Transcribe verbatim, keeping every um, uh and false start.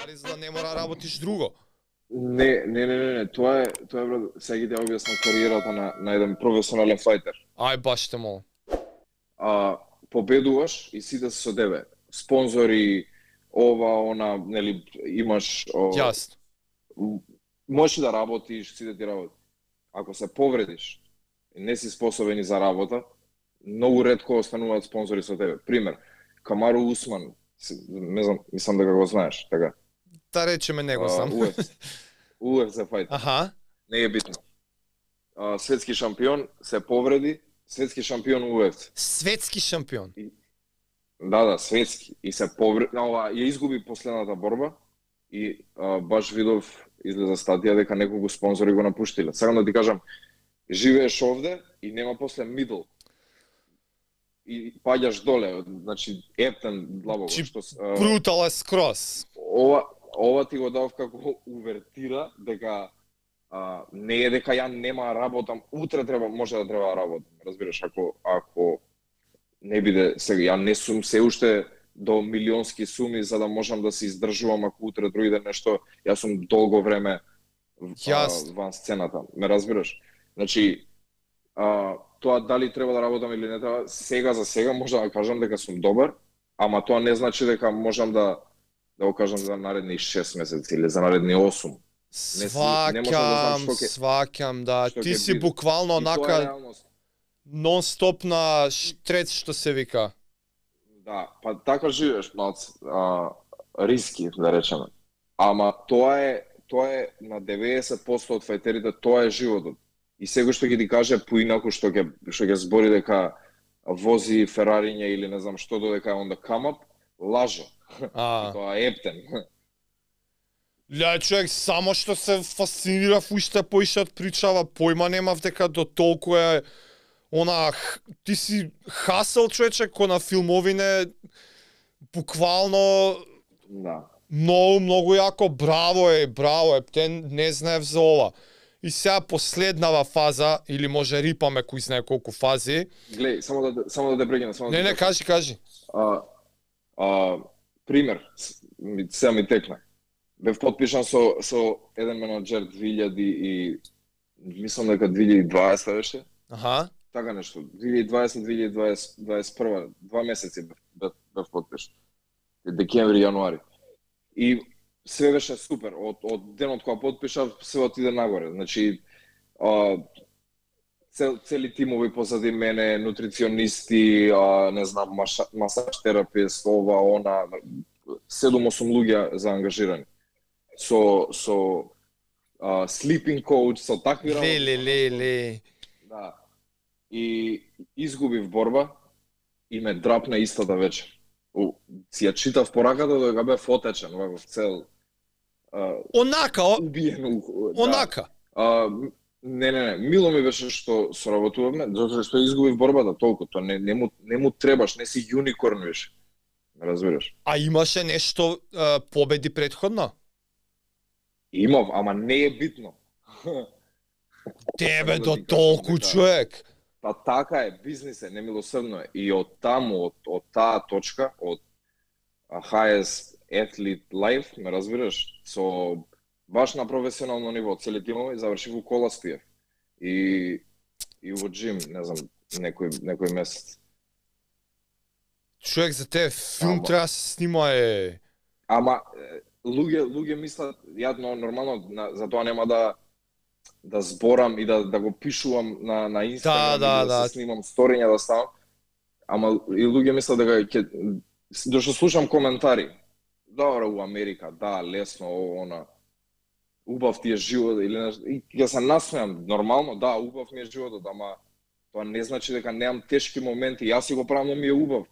пари за да не мора да работиш друго. Не, не, не, не, не, тоа е, тоа е брат, сега ќе објаснам кариерата на на еден професионален фајтер. Ај баш те молам. А победуваш и сите се со тебе. Спонзори, ова, она, нели, имаш о, Јасно. можеш да работиш, сите ти работи. Ако се повредиш и не си способен за работа, многу ретко остануваат спонзори со тебе. Пример, Камару Усман, не знам, мислам дека го знаеш, така. Да речеме него знам. У Еф Си. У Еф Си фајтер. Аха. Не е битно. А, светски шампион се повреди, светски шампион У Еф Си. Светски шампион. Да, да, светски. И се повреди, ова ја изгуби последната борба и а, баш видов излеза статија дека неколку спонзори го напуштиле. Сакам да ти кажам, живееш овде и нема после мидл. И паѓаш доле, значи ептен длабоко. Чи што брутал е скрос. Ова ова ти го дав како увертира дека а, не е дека ја нема работам, утре треба може да треба да работам, разбираш, ако ако не биде сега ја не сум се уште до милионски суми за да можам да се издржувам ако утре дојде нешто, јас сум долго време а, ван сцената, ме разбираш? Значи а, тоа дали треба да работам или не треба, сега за сега може да кажам дека сум добар, ама тоа не значи дека можам да да го кажам за наредни шест месеци или за наредни осум. Сваќам, да сваќам, да. Ти си биде. Буквално онака нон-стоп на штрец, што се вика. Да, па така живееш, малце, а, риски, да речеме. Ама тоа е, тоа е на деветдесет проценти од фајтерите, тоа е животот. И сега што ќе ти каже поинаку што ќе што ќе збори дека вози Ферариња или не знам што додека е on the come up, лаже. А. Тоа е ептен. Ле, човек, само што се фасцинирав уште поише од причава, појма немав дека до толку е она, ти си хасел, човече, ко на филмовине, буквално да. Многу, многу јако, браво е, браво е, те не знаев за ова. И сега последнава фаза, или може рипаме кој знае колку фази. Глеј, само да само да те прекинам, само Не, да не, кажи, кажи. А, а, пример, сега ми текна. Бев подпишан со со еден менаџер две илјади и мислам дека две илјади и дваесета беше. Аха. Така нешто. две илјади и дваесета две илјади и дваесет и прва, два месеци бев, бев, бев подпишан. Декември, јануари. И све беше супер. Од од денот кога подпишав, се отиде нагоре. Значи, а, цел, цели тимови позади мене, нутриционисти, а, не знам, масаж терапевт, ова, она, седум-осум луѓе заангажирани. Со со а, sleeping coach, со такви работи. Ле, ле, ле, ле. Да. И изгубив борба и ме драпна истата вечер. У, си ја читав пораката дека бев отечен ваков цел. А, онака, о... убиен. Онака. Да. А, не, не, не, мило ми беше што соработувавме, затоа што изгубив борбата толку, тоа не, не, му, не му требаш, не си юникорн више. Разбираш? А имаше нешто а, победи претходно? Имав, ама не е битно. Тебе до толку човек. Па така е, бизнис е, немилосрдно е. И од таму, од, од таа точка, од highest athlete life, ме разбираш, со баш на професионално ниво, цели тимови, завршив у Коласпиев. И, и во джим, не знам, некој, некој месец. Човек, за те филм Ама... треба се снима е... Ама, луѓе, луѓе мислат, ја нормално, на, за тоа нема да да зборам и да да го пишувам на на Инстаграм, да, да, да, да да се снимам сториња да ставам. Ама и луѓе мислат дека ќе дошто слушам коментари. Добро у Америка, да, лесно, ово, она. Убав ти е живот или нешто. И ќе се насмеам, нормално, да, убав ми е животот, ама тоа не значи дека немам тешки моменти. Јас си го правам, но ми е убав.